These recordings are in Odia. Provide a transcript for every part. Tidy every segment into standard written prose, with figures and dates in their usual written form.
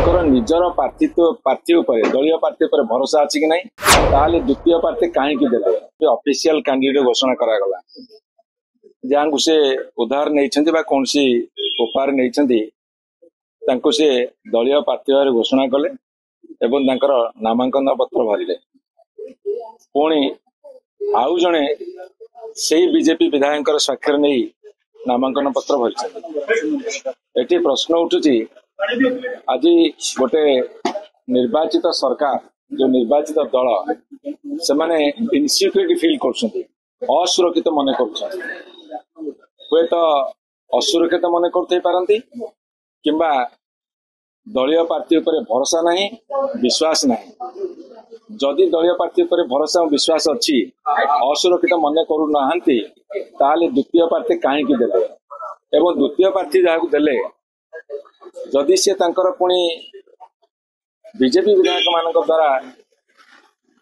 ତାଙ୍କର ନିଜର ପ୍ରାର୍ଥୀ ଉପରେ, ଦଳୀୟ ପ୍ରାର୍ଥୀ ଉପରେ ଭରସା ଅଛି କି ନାହିଁ? ତାହେଲେ ଦ୍ୱିତୀୟ ପ୍ରାର୍ଥୀ କାହିଁକି ଦେଲେ? ଅଫିସିଆଲ କ୍ୟାଣ୍ଡିଡେଟ୍ ଘୋଷଣା କରାଗଲା, ଯାହାଙ୍କୁ ସେ ଉଧାର ନେଇଛନ୍ତି ବା କୌଣସି ଉପହାର ନେଇଛନ୍ତି, ତାଙ୍କୁ ସେ ଦଳୀୟ ପ୍ରାର୍ଥୀ ଭାବରେ ଘୋଷଣା କଲେ ଏବଂ ତାଙ୍କର ନାମାଙ୍କନ ପତ୍ର ଭରିଲେ। ପୁଣି ଆଉ ଜଣେ ସେଇ ବିଜେପି ବିଧାୟକଙ୍କର ସ୍ୱାକ୍ଷର ନେଇ ନାମାଙ୍କନ ପତ୍ର ଭରିଛନ୍ତି। ଏଠି ପ୍ରଶ୍ନ ଉଠୁଛି, ଆଜି ଗୋଟେ ନିର୍ବାଚିତ ସରକାର, ଯୋଉ ନିର୍ବାଚିତ ଦଳ, ସେମାନେ ଇନସିକ୍ୟୁରିଟି ଫିଲ୍ କରୁଛନ୍ତି, ଅସୁରକ୍ଷିତ ମନେ କରୁଛନ୍ତି। ହୁଏତ ଅସୁରକ୍ଷିତ ମନେ କରୁଥାଇ ପାରନ୍ତି କିମ୍ବା ଦଳୀୟ ପ୍ରାର୍ଥୀ ଉପରେ ଭରସା ନାହିଁ, ବିଶ୍ୱାସ ନାହିଁ। ଯଦି ଦଳୀୟ ପ୍ରାର୍ଥୀ ଉପରେ ଭରସା ଓ ବିଶ୍ୱାସ ଅଛି, ଅସୁରକ୍ଷିତ ମନେ କରୁନାହାନ୍ତି, ତାହେଲେ ଦ୍ୱିତୀୟ ପ୍ରାର୍ଥୀ କାହିଁକି ଦେଲେ? ଏବଂ ଦ୍ୱିତୀୟ ପ୍ରାର୍ଥୀ ଯାହାକୁ ଦେଲେ, ଯଦି ସେ ତାଙ୍କର ପୁଣି ବିଜେପି ବିଧାୟକ ମାନଙ୍କ ଦ୍ୱାରା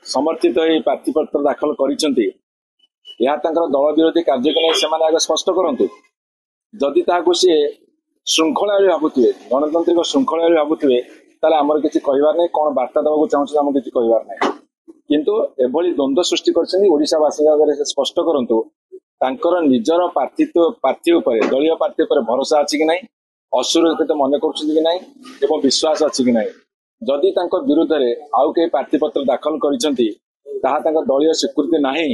ସମର୍ଥିତ ହୋଇ ପ୍ରାର୍ଥୀପତ୍ର ଦାଖଲ କରିଛନ୍ତି, ଏହା ତାଙ୍କର ଦଳ ବିରୋଧୀ କାର୍ଯ୍ୟକୁ ନେଇ ସେମାନେ ଆଗ ସ୍ପଷ୍ଟ କରନ୍ତୁ। ଯଦି ତାହାକୁ ସିଏ ଶୃଙ୍ଖଳା ବୋଲି ଭାବୁଥିବେ, ଗଣତାନ୍ତ୍ରିକ ଶୃଙ୍ଖଳା ବୋଲି ଭାବୁଥିବେ, ତାହେଲେ ଆମର କିଛି କହିବାର ନାହିଁ। କଣ ବାର୍ତ୍ତା ଦେବାକୁ ଚାହୁଁଛନ୍ତି, ଆମକୁ କିଛି କହିବାର ନାହିଁ। କିନ୍ତୁ ଏଭଳି ଦ୍ୱନ୍ଦ୍ୱ ସୃଷ୍ଟି କରିଛନ୍ତି, ଓଡ଼ିଶାବାସୀଙ୍କ ଆଗରେ ସେ ସ୍ପଷ୍ଟ କରନ୍ତୁ, ତାଙ୍କର ନିଜର ପ୍ରାର୍ଥୀ ଉପରେ, ଦଳୀୟ ପ୍ରାର୍ଥୀ ଉପରେ ଭରସା ଅଛି କି ନାହିଁ, ଅସୁରକ୍ଷିତ ମନେ କରୁଛନ୍ତି କି ନାହିଁ ଏବଂ ବିଶ୍ୱାସ ଅଛି କି ନାହିଁ। ଯଦି ତାଙ୍କ ବିରୁଦ୍ଧରେ ଆଉ କେହି ପ୍ରାର୍ଥୀପତ୍ର ଦାଖଲ କରିଛନ୍ତି, ତାହା ତାଙ୍କ ଦଳୀୟ ସ୍ୱୀକୃତି ନାହିଁ,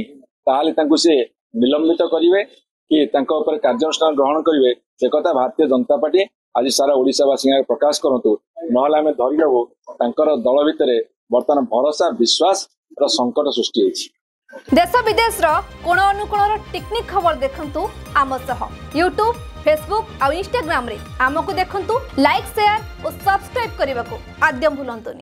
ତାହେଲେ ତାଙ୍କୁ ସେ ନିଲମ୍ବିତ କରିବେ କି ତାଙ୍କ ଉପରେ କାର୍ଯ୍ୟାନୁଷ୍ଠାନ ଗ୍ରହଣ କରିବେ, ସେ କଥା ଭାରତୀୟ ଜନତା ପାର୍ଟି ଆଜି ସାରା ଓଡ଼ିଶାବାସୀଙ୍କ ଆଗରେ ପ୍ରକାଶ କରନ୍ତୁ। ନହେଲେ ଆମେ ଧରିନେବୁ ତାଙ୍କର ଦଳ ଭିତରେ ବର୍ତ୍ତମାନ ଭରସା ବିଶ୍ୱାସର ସଙ୍କଟ ସୃଷ୍ଟି ହେଇଛି। ଦେଶ ବିଦେଶର କୋଣ ଅନୁକୋଣର ଟିକ୍ନିକ୍ ଖବର ଦେଖନ୍ତୁ ଆମ ସହ ୟୁଟ୍ୟୁବ୍, ଫେସବୁକ୍ ଆଉ ଇନଷ୍ଟାଗ୍ରାମରେ ଆମକୁ ଦେଖନ୍ତୁ। ଲାଇକ୍, ସେୟାର ଓ ସବସ୍କ୍ରାଇବ୍ କରିବାକୁ ଆଦ୍ୟ ଭୁଲନ୍ତୁନି।